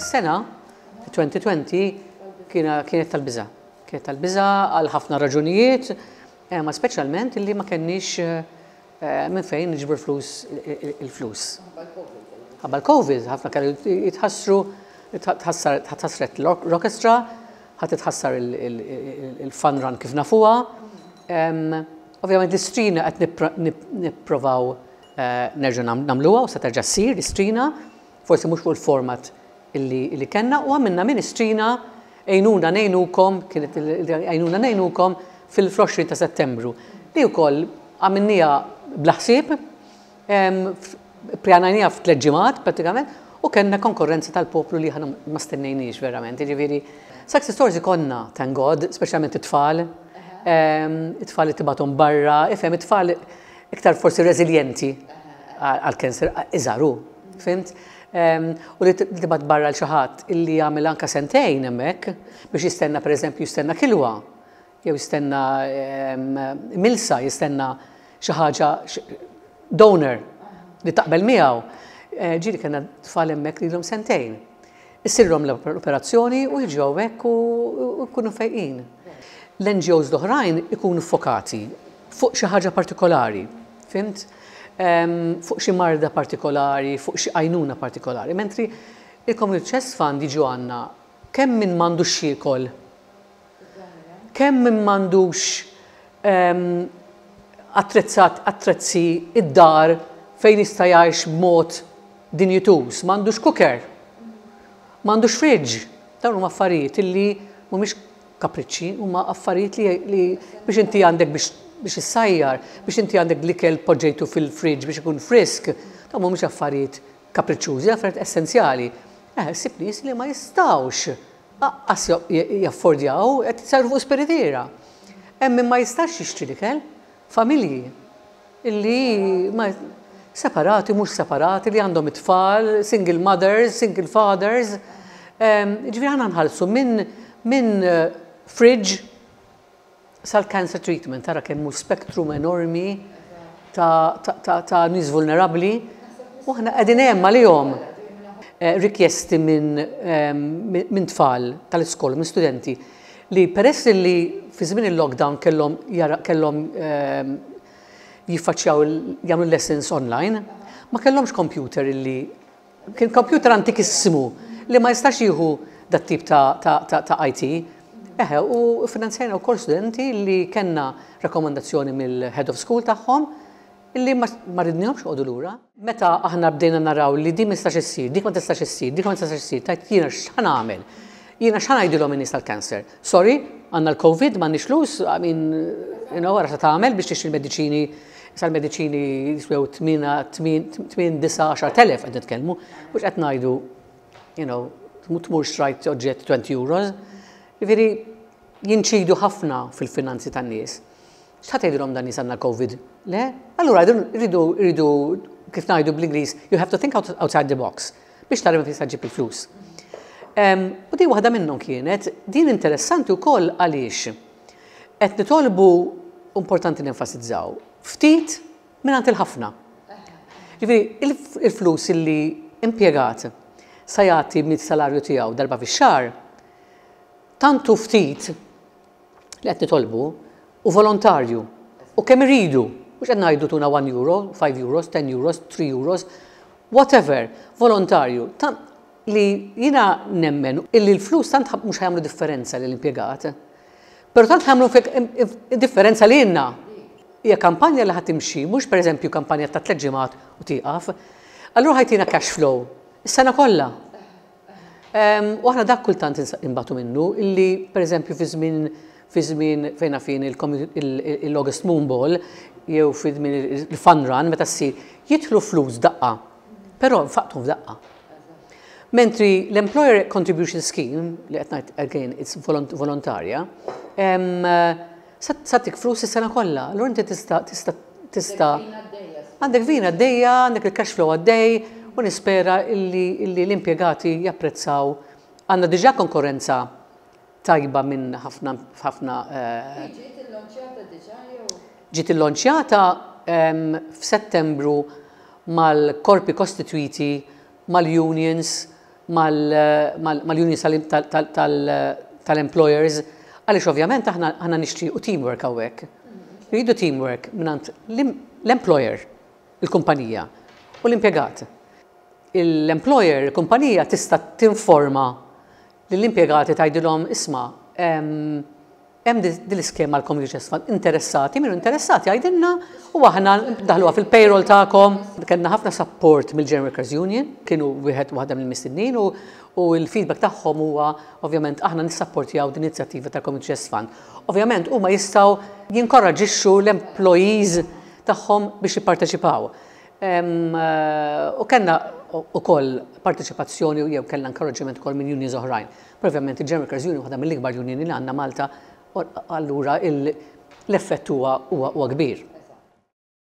Is-sena 2020 kienet tal-biża'. Kienet tal-biża' għal ħafna raġunijiet, ma speċjalment illi ma kenniex minn fejn niġbru flus il-flus. Ħabba l-Covid, ħafna kellu jitħassru, tħassret l-orkestra, ħa titħassar il-fun run kif nafuha. Ovvjament l-istrina qed nipprovaw nerġgħu nagħmluha u se terġa' ssir l-istrina, forsi mhux fuq il-format illi kellna u għamilna minn istrina Għinuna Ngħinukom, kienet Għinuna Ngħinukom fil-20 ta' Settembru, li wkoll għamilniha bla ħsieb, ppjanajniha f'tliet ġimgħat prattikament u kellna konkorrenza tal-poplu li aħna ma stennejniex verament. Jiġifieri success stories ikollna, thank God, speċjalment it-tfal, it-tfal li tibgħathom barra, ifhem it-tfal iktar forsi reżiljenti għall-cancer iżgħar hu, fhimt? U li tibgħat barra l xi ħadd illi jagħmel anke sentejn hemmhekk biex jistenna pereżempju jistenna kilwa jew jistenna milsa, jistenna xi ħaġa donor li taqbel miegħu. Eh, ġieli kellna tfal hemmhekk li ilhom sentejn. Issirhom l-operazzjoni u jiġu hawnhekk u jkunu fejqin. L-NGOs l-oħrajn ikunu fokati fuq xi ħaġa partikolari, fhimt? Fuq xi marda partikolari, fuq xi għajnuna partikolari. Mentri il-Community Chest Fund jiġu għandna kemm min m'għandux x'jiekol, kemm min m'għandux attrezzat attrezzi id-dar fejn jista' jgħix b'mod dinjituż, m'għandux cooker, m'għandux fridge. Dawn huma affarijiet illi mhumiex kapriċċi, huma affarijiet li, li biex inti għandek biex biex issajjar, biex inti għandek l-ikel poġġejtu fil-fridge biex ikun frisk, dawn mhumiex affarijiet kapriċċużi, affarijiet essenzjali. Eh, ssib nies li ma jistgħux aqqas jaffordjaw qed jisarru fuq spiritiera. Hemm min ma jistax jixtri l-ikel, familji illi ma separati, mhux separati, li għandhom it-tfal, single mothers, single fathers. Ġifieri aħna nħallsu minn min fridge sal-cancer treatment, tara kemm hu spektrum enormi ta', ta, ta, ta nies vulnerabbli u aħna qegħdin hemm għalihom. Eh, rikjesti minn min tfal tal-iskola, minn studenti, li peress li fi żmien il-lockdown kellhom kellhom jiffaċċjaw jagħmlu lessons online, ma kellhomx computer illi kien computer antikissimu li ma jistax jieħu dat tip ta', ta, ta, ta IT. Eħe, u finanzjajna wkoll studenti li kellna rakkomandazzjoni mill-head of school tagħhom illi ma, ma ridnihomx joqogħdu lura. Meta aħna bdejna naraw li din ma tistax issir, dik ma tistax issir, dik ma tistax issir, tajt jiena x'ħa nagħmel? Jiena x'ħa ngħidilhom in-nies tal-cancer? Sorry, għandna l-Covid, m'għandniex flus, I mean, you know, ara tagħmel biex tixtri l-mediċini, sa l-mediċini jiswew 8, 8, 9, 10,000 qed nitkellmu, mhux qed ngħidu, you know, tmur xtrajt oġġett 20 euros. Jiġifieri jinċidu ħafna fil-finanzi tan-nies. X'ħa tgħidilhom dan nies għandna l-Covid? Le? Allura rridu rridu kif ngħidu bl-Ingliż, you have to think outside the box biex tara minn fejn tista' ġġib il-flus. U din waħda minnhom kienet, din interessanti wkoll għaliex qed nitolbu importanti nenfasizzaw ftit mingħand il-ħafna. Ġifieri il-flus illi impjegat sa jagħti mis-salarju tiegħu darba fix-xahar, tant hu ftit li qed nitolbu hu volontarju u kemm iridu, mhux qed ngħidu tuna 1 euro, 5 euros, 10 euros, 3 euros, whatever, volontarju. Li jiena nemmen illi l-flus tant mhux ħa jagħmlu differenza lill-impjegat, però tant ħa jagħmlu differenza lilna. Hija kampanja li ħa timxi, mhux pereżempju kampanja ta' tliet ġimgħat u tieqaf. Allura ħa jtina cash flow is-sena kollha. U aħna dak kultant inbatu minnu illi pereżempju fi żmien fi żmien fejn naf jien il-August Moon Ball jew fi żmien il-Fun Run meta ssir jidħlu flus daqqa, però nfaqthom f'daqqa. Mentri l-Employer Contribution Scheme li qed ngħid again it's volontarja, sa tik flus is-sena kollha. Allura inti tista' tista' tista' għandek vina għaddejja, għandek il-cash flow għaddej u nispera illi l-impjegati japprezzaw. Għandna diġà konkurrenza tajba minn ħafna ħafna. Ġiet illonċjata diġà jew? Ġiet illonċjata f'Settembru mal-korpi kostitwiti, mal-unions. mal-unions tal-employers, għaliex ovvjament aħna nixtiequ teamwork hawnhekk. Rridu teamwork mingħand l-employer, il-kumpanija, u l-impjegat. L-employer, il-kumpanija tista' tinforma lill-impjegati, tgħidilhom, "Isma', hemm din l-iskema l-Community Chest Fund, interessati, min hu interessati jgħidilna u aħna ndaħluha fil-payroll tagħkom." Kellna ħafna support mill-General Workers Union, kienu wieħed waħda mill-mistednin u l-feedback tagħhom huwa ovvjament aħna nissapportjaw din inizjattiva tal-Community Chest Fund. Ovvjament huma jistgħu jinkoraġixxu l-employees tagħhom biex jipparteċipaw. U kellna ukoll parteċipazzjoni jew kellna inkoraġġiment ukoll minn unions oħrajn. Però ovvjament il-General Workers Union waħda mill-ikbar union li għandna Malta, allura l-effett huwa kbir.